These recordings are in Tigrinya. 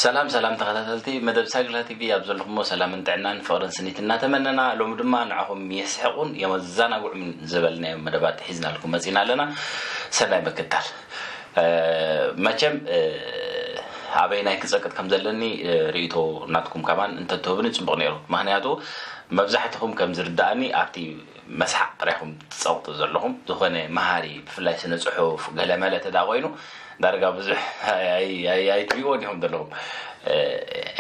ሰላም ሰላም ተኸታተልቲ መደብ ሳግላ ቲቪ፣ ኣብ ዘለኹሞ ሰላምን ጥዕናን ፍቕርን ስኒት እናተመነና፣ ሎሚ ድማ ንዓኹም የስሕቑን የመዘናግዑን ዝበልናዮም መደባት ሒዝናልኩም መፂና ኣለና። ሰናይ ምክታል። መቸም ኣበይናይ ክፀቅጥ ከም ዘለኒ ርእይቶ ናትኩም ከማን እንተትህብኒ ፅቡቕ ነይሩ። ምክንያቱ መብዛሕትኹም ከም ዝርዳእኒ ኣብቲ መስሓቕ ጥራይኹም ትፀቕጡ ዘለኹም። ዝኾነ መሃሪ፣ ብፍላይ ስነ ፅሑፍ ገለመለ ተዳ ኮይኑ ዳርጋ ብዙሕ ኣይትሪእዎን ኢኹም ዘለኹም።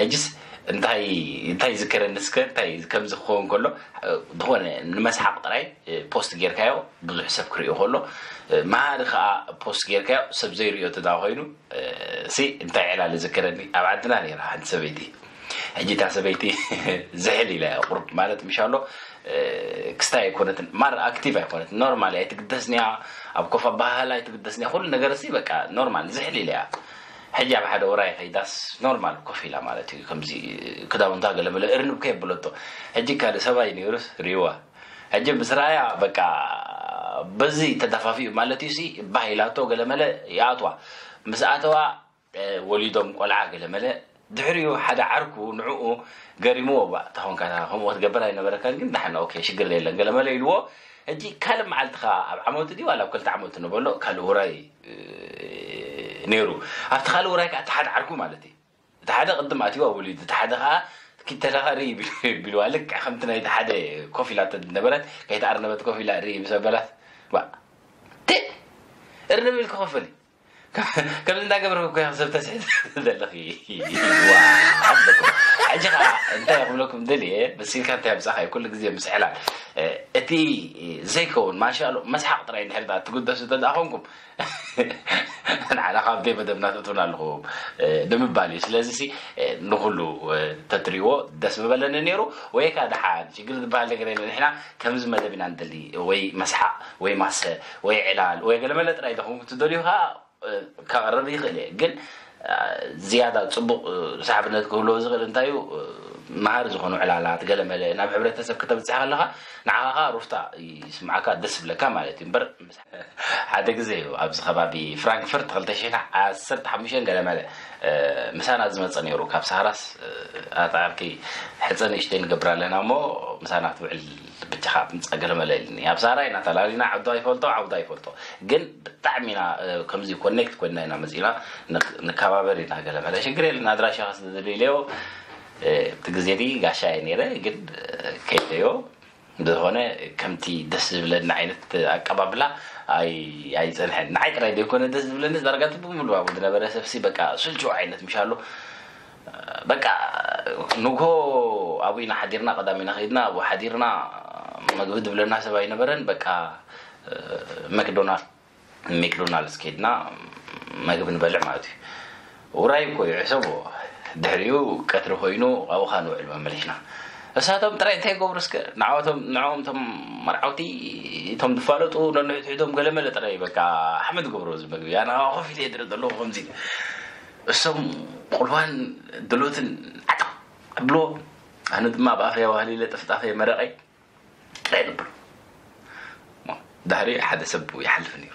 ሕጅስ እንታይ እንታይ ዝከረኒ እስከ እንታይ ከምዚ ክኸውን ከሎ ዝኾነ ንመስሓቕ ጥራይ ፖስት ጌርካዮ ብዙሕ ሰብ ክርእዮ ከሎ፣ መሃሪ ከዓ ፖስት ጌርካዮ ሰብ ዘይርእዮ ተዳ ኮይኑ፣ ሲ እንታይ ዕላል ዝከረኒ፣ ኣብ ዓድና ነይራ ሓንቲ ሰበይቲ። ሕጂ እታ ሰበይቲ ዝሕል ኢላ እያ፣ ቁርብ ማለት ምሻሎ ክስታይ ኣይኮነትን፣ ማር ኣክቲቭ ኣይኮነትን፣ ኖርማል እያ፣ ኣይትግደስን እያ፣ ኣብ ኮፍ ኣበሃህላ ኣይትግደስን እያ፣ ኩሉ ነገር ሲ በቃ ኖርማል ዝሕል ኢላ እያ። ሕጂ ኣብ ሓደ ውራይ ከይዳስ ኖርማል ኮፍ ኢላ ማለት እዩ። ከምዚ ክዳውንታ ገለመለ እርንብ ከየብለቶ። ሕጂ ካልእ ሰብኣይ ነይሩስ ሪዋ። ሕጂ ምስ ረኣያ በቃ በዚ ተደፋፊኡ ማለት እዩ ሲ ባህ ኢላቶ ገለመለ ይኣትዋ። ምስ ኣተዋ ወሊዶም ቆልዓ ገለመለ። ድሕሪኡ ሓደ ዓርኩ ንዕኡ ገሪምዎ፣ ባ ተኾንካ ከምኡ ክትገብር ኣይነበረካን፣ ግን ዳሕና ኦኬ ሽግር የለን ገለመለ ኢልዎ። ሕጂ ካልእ መዓልቲ ከኣ ኣብ ዓመቱ ድዩ ዋላ ኣብ ክልተ ዓመቱ ነበሎ ካልእ ውራይ ነይሩ። ኣብቲ ካልእ ውራይ ከኣ እቲ ሓደ ዓርኩ ማለት እዩ፣ እቲ ሓደ ቅድም ኣትዋ ወሊዱ፣ እቲ ሓደ ከኣ ኪተለኻ ርኢ ቢልዋ። ልክዕ ከምቲ ናይቲ ሓደ ኮፍ ኢላ ነበረት፣ ከይተኣርነበት ኮፍ ኢላ ርኢ ምስ ኣበላት፣ ባ ቴ እርንብ ኢልኪ ኮፍ በሊ። ከምዚ እንዳገበርኩ እኮ ኢኻ ሰብ ተስሕት ዘለኺ። ዋ፣ ዓበኩም። ሕጂ ኸዓ እንታይ ክብለኩም ደልየ፣ በሲልካ እንታይ ኣምጻእካ እዩ ኩሉ ግዜ ምስ ዕላል። እቲ ዘይከውን ማሻሎ መስሓቕ ጥራይ እንድሕር ደኣ ትግደሱ እንተ ደኣ ኾንኩም፣ ንዓና ካብ ደይ መደብና ተእትውና ኣለኹም ንምባል እዩ። ስለዚ ሲ ንኹሉ ተትሪዎ ደስ ምበለኒ ነይሩ። ወይ ከዓ ደሓን ሽግር ዝበሃል ነገር የለ። ንሕና ከምዚ መደብ ኢና ንደሊ፣ ወይ መስሓቕ ወይ ማሰ ወይ ዕላል ወይ ገለመለ ጥራይ ተኾንኩም ትደልዩ ከዓ ከቕርብ ይኽእል እየ። ግን ዝያዳ ፅቡቕ ሳዕብነት ክህልዎ ዝኽእል እንታይ እዩ? መሃሪ ዝኾኑ ዕላላት ገለመለ ናብ ሕብረተሰብ ክተብፅሕ ከለኻ ንዓኻ ሩፍታ ይስምዓካ፣ ደስ ይብለካ ማለት እዩ። እምበር ሓደ ግዜ እዩ ኣብዚ ከባቢ ፍራንክፈርት ክልተ ሽሕን ዓሰርተ ሓሙሽተን ገለመለ ምሳና ዝመፀ ነይሩ። ካብ ሳራስ ኣጣዕርኪ ሕፀ ንእሽተይ ንገብር ኣለና እሞ ምሳና ክትውዕል ብቻኻ ምፃ ገለመለ ኢልኒ። ኣብ ሳራ ኢና ተላሊና፣ ዓዱ ኣይፈልጦ ዓውዳ ኣይፈልጦ፣ ግን ብጣዕሚ ኢና ከምዚ ኮኔክት ኮይና ኢና መፂና። ንከባበር ኢና ገለመለ። ሽግር የለን፣ ኣድራሻኻ ስለ ዝደልዮ እቲ ግዜ ዲ ጋሻ እየ ነይረ፣ ግን ከይደዮ ብዝኾነ ከምቲ ደስ ዝብለኒ ዓይነት ኣቀባብላ ኣይፀንሐን። ንዓይ ጥራይ ዘይኮነ ደስ ዝብለኒ፣ ዳርጋ እቲ ብምሉእ ኣብኡ ዝነበረ ሰብሲ በቃ ስልችው ዓይነት ምሻሎ። በቃ ንግሆ ኣብኡ ኢና ሓዲርና፣ ቀዳም ኢና ከይድና ኣብኡ ሓዲርና። መግቢ ዝብለና ሰብ ኣይነበረን። በቃ መክዶናልድ ሜክዶናልድስ ከይድና መግቢ ንበልዕ ማለት እዩ። ውራይ እኮ እዩ ሕሰቦ። ድሕሪኡ ቀትሪ ኮይኑ ኣብኡ ኸኣ ንውዕል መመሊስና። እሳቶም ጥራይ እንታይ ይገብሩ እስከ? ንዓወቶም ንዕኦም እቶም መርዓውቲ እቶም ዝፋለጡ ነንሕድሕዶም ገለመለ ጥራይ በቃ ሓመድ ገብሮ እዚ መግቢ። ኣነ ከኣ ኮፍ ኢለ ይድረ ዘለኹ ከምዚ እሶም ቁልዋን ድሎትን ዓጠቕ ኣብሎ። ኣነ ድማ ኣብ ኣፈይ ኣዋህሊለ ጥፍጣፈይ መረቐይ ጥራይ ንብሎ። ድሕሪ ሓደ ሰብ ይሓልፍ ነይሩ።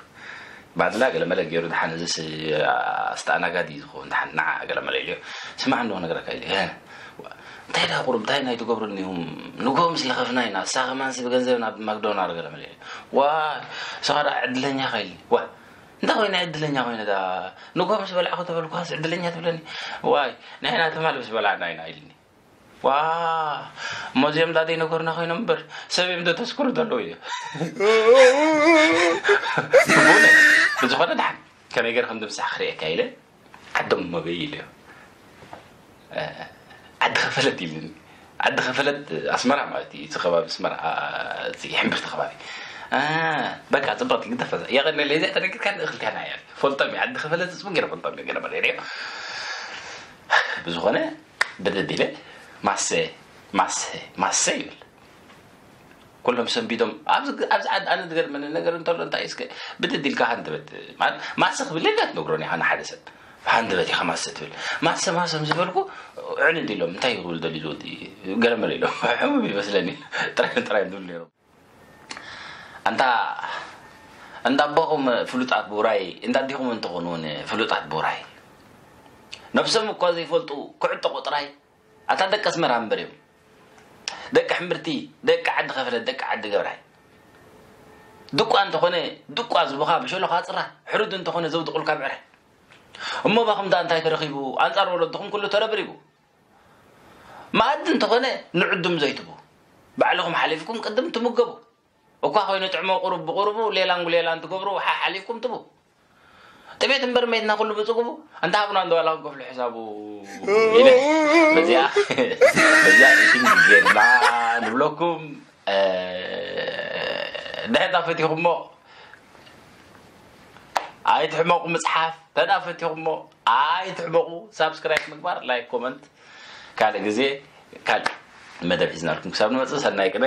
ባድላ ገለመለ ገይሩ፣ ደሓን እዚስ ኣስተኣናጋዲ እዩ ዝኸውን፣ ደሓን ንዓ ገለመለ ኢልዮ። ስማዕ እንዶ ክነግረካ ኢለ። እንታይ ደኣ ቁሩብ እንታይ ናይ ትገብሩ እኒኹም? ንጎ ምስ ለኸፍና ኢና፣ እሳ ከማንስ ብገንዘብ ናብ ማክዶናር ገለመለ ኢለ። ዋይ፣ እሳ ደኣ ዕድለኛ ኢኻ ኢልኒ። ዋይ፣ እንታይ ኮይነ ዕድለኛ ኮይነ ደኣ? ንጎ ምስ በላዕኹ ተበልኩኻስ ዕድለኛ ትብለኒ? ዋይ፣ ንሕና ትማል ምስ በላዕና ኢና ኢልኒ። ዋ፣ እሞ እዚኦም ዳ ዘይነገሩና ኮይኖም እምበር ሰብ እዮም ዶ ተስክሩ ዘለዉ እዮም። ብዝኾነ ደሓን ከመይ ገይረ ከም ድምሳሕ ክርእየካ ኢለ ዓዶም እሞ በይ ኢለዮ። ዓዲ ኸፈለት ኢልኒ። ዓዲ ኸፈለት ኣስመራ ማለት እዩ። እቲ ከባቢ ኣስመራ፣ እዚ ሕምብርቲ ከባቢ። በቃ ጽብቕቲ ግደፈ። የቐነለይ እዚኣ ተነጊርካ ንእኽልካ ና እያ። ፈልጦም እዩ። ዓዲ ኸፈለት ጽቡቕ ገይረ ፈልጦም እዩ። ገለ መለ ብዝኾነ ብድድ ኢለ ማሰ ማሰ ማሰ ይብል። ኩሎም ሰንቢዶም ኣብዚ ኣብዚ ዓዲ ኣነ ዝገርመኒ ነገር እንተሎ እንታይ እስከ ብድድ ኢልካ ሃንደበት ማለት ማሰ ክብል የለ ትነግሮን ኢኻ ንሓደ ሰብ ሃንደበት ኢኻ ማሰ ትብል። ማሰ ማሰ ምስ ዝበልኩ ዕንድ ኢሎም እንታይ ክብል ደልዩ ዝወዲ ገለመለ ኢሎም ሕሙም ይመስለኒ ጥራይ ጥራይ ዝብሉ ነይሮም። ኣንታ እንዳ ኣቦኹም ፍሉጣት ብውራይ እንዳ ኣዲኹም እንተኾኑ እውን ፍሉጣት ብውራይ ነብሶም እኳ ዘይፈልጡ ክዕጠቑ ጥራይ። ኣታ ደቂ ኣስመራ እምበር እዮም። ደቂ ሕምብርቲ፣ ደቂ ዓዲ ከፈለት፣ ደቂ ዓዲ ገብራይ። ድቋ እንተኾነ ድቋ ዝቡኻ ብሸሎኻ ጽራ፣ ሕሩድ እንተኾነ ዘውድቑልካ ብዕረ። እሞ ባኹም ደኣ እንታይ ተረኺቡ? ኣንጻር ወለድኹም ኩሉ ተረብሪቡ። መኣዲ እንተኾነ ንዕዱም ዘይትቡ፣ ባዕልኹም ሓሊፍኩም ቅድም ትምገቡ። እኳ ኮይኑ ጥዕሞ ቁሩብ ብቁሩቡ ሌላን ጉሌላን ትገብሩ ሓሓሊፍኩም ትቡ። ጥሜት እምበር መይትና ኩሉ ብጽጉቡ። እንተ ሃቡና እንዶ ዋላ ክንከፍሎ ሕሳቡ ኢለ። በዚኣ በዚኣ ኢቲንግ ጌርና ንብለኩም። ድሕታ ፈቲኹሞ ኣይትሕመቑ ምጽሓፍ፣ ተዳ ፈቲኹሞ ኣይትሕመቑ። ሳብስክራይብ ምግባር፣ ላይክ፣ ኮመንት። ካልእ ግዜ ካልእ መደብ ሒዝናልኩም ክሳብ ንመጽእ ሰናይ ቅነ።